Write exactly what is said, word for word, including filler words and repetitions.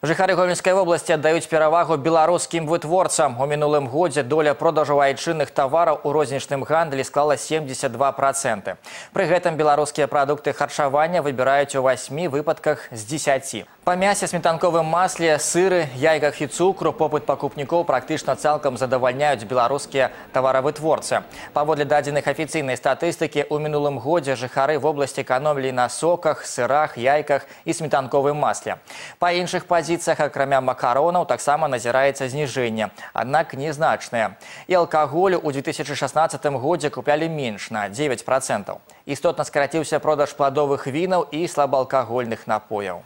Жыхары Гомельской области отдают перавагу белорусским вытворцам. У мінулым годзе доля продажу айчынных товаров у рознічным гандлі склала семьдесят два процента. При гэтым белорусские продукты харчавання выбирают у восьми выпадках с десяти. По мясе, сметанковым масле, сыры, яйках и цукру попыт покупников практично цалком задовольняют белорусские товаровытворцы. Паводле дадзеных официальной статистики, у мінулым годзе жыхары в области экономили на соках, сырах, яйках и сметанковым масле. По іншых позициях, акрамя макаронов, таксама назирается снижение, однако незначное. И алкоголь у две тысячи шестнадцатым годзе купляли меньше, на девять процентов. Істотно скоротился продаж плодовых винов и слабоалкогольных напоев.